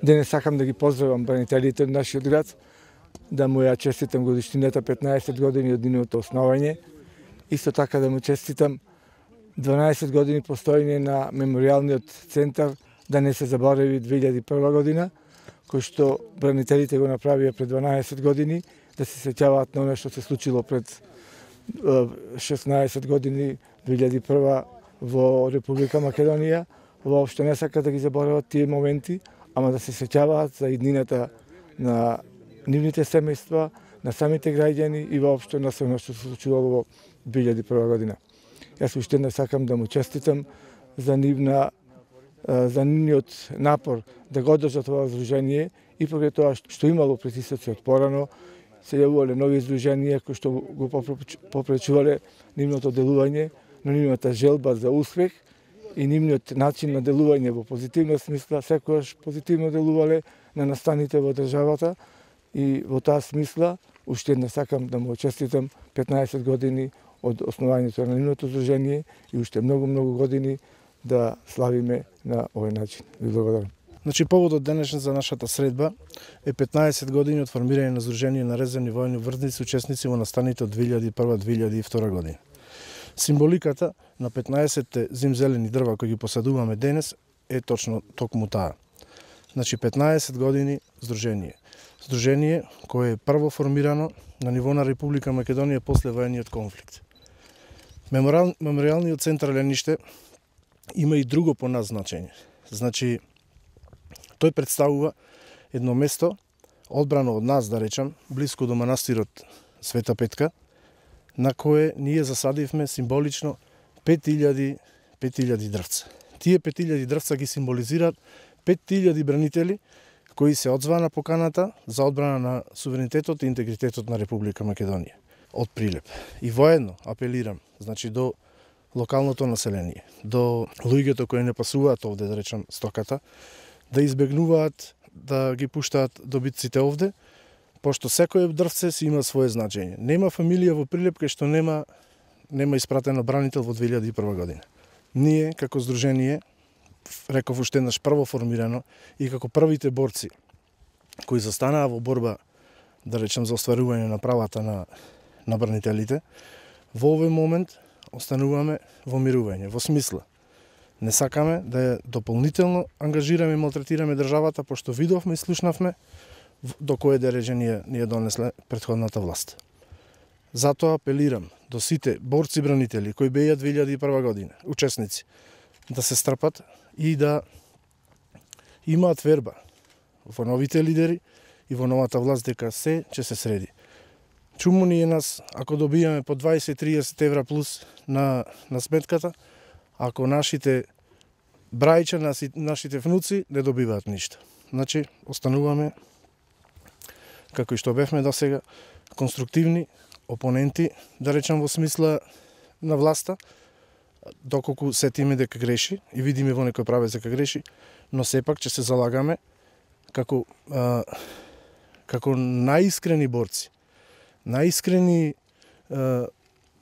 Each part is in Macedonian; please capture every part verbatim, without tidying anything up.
Денес сакам да ги поздравам бранителите од нашиот град, да му ја честитам годишнината петнаесет години од нивното основање. Исто така да му честитам дванаесет години постоење на меморијалниот центар, да не се заборави две илјади и прва година, кој што бранителите го направија пред дванаесет години, да се сеќаваат на оно што се случило пред шеснаесет години, две илјади и прва во Република Македонија. Воопшто не сакаат да ги заборават тие моменти, ама да се сеќаваат за иднината на нивните семејства, на самите граѓани и воопшто на се што се случило во две илјади и прва година. Јас уште еднаш сакам да му честитам за нивна за нивниот напор да го одржат ова здружение и покрај тоа што имало притисоци од порано, се јавувале нови здруженија кои што го попречувале нивното делување, но нивната желба за успех и нивниот начин на делување во позитивна смисла, секогаш позитивно делувале на настаните во државата и во таа смисла уште еднаш сакам да му честитам петнаесет години од основањето на нивното здружение и уште многу многу години да славиме на овој начин. Ви благодарам. Значи поводот денешен за нашата средба е петнаесет години од формирање на Здружение на резервни војни врзници учесници во настаните од две илјади и прва до две илјади и втора година. Символиката на петнаесетте зимзелени дрва кои ги посадуваме денес е точно токму таа. Значи петнаесет години Здружение. Здружение кое е прво формирано на ниво на Република Македонија после воениот конфликт. Мемориал, мемориалниот центар Лениште има и друго по нас значење. Значи, тој представува едно место, одбрано од нас, да речам, блиску до манастирот Света Петка, на кое ние засадивме символично пет илјади дрвца. Тие пет илјади дрвца ги символизираат пет илјади бранители кои се одзваа на поканата за одбрана на суверенитетот и интегритетот на Република Македонија од Прилеп. И воедно апелирам, значи до локалното население, до луѓето кои не пасуваат овде, да речам, стоката, да избегнуваат да ги пуштаат добитците овде, пошто секој дрвце си има свое значење. Нема фамилија во Прилеп кај што нема нема испратено бранител во две илјади и прва година. Ние како здружение, реков уште еднаш прво формирано и како првите борци кои застанаа во борба, да речем, за остварување на правата на на бранителите, во овој момент остануваме во мирување, во смисла. Не сакаме да ја дополнително ангажираме и малтретираме државата, пошто видовме и слушнавме до кое дереже ни ја донесле претходната власт. Затоа апелирам до сите борци бранители кои беа две илјади и прва година, учесници, да се стрпат и да имаат верба во новите лидери и во новата власт дека се ќе се среди. Чуму ни е нас ако добијаме по дваесет до триесет евра плюс на, на сметката, ако нашите брајча, нашите внуци не добиваат ништо. Значи, остануваме, како и што бевме до сега, конструктивни опоненти, да речам во смисла на власта, доколку сетиме дека греши и видиме во некој правец дека греши, но сепак ќе се залагаме како, а, како најискрени борци, најискрени а,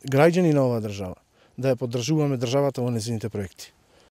граѓани на оваа држава, да ја поддржуваме државата во незините проекти.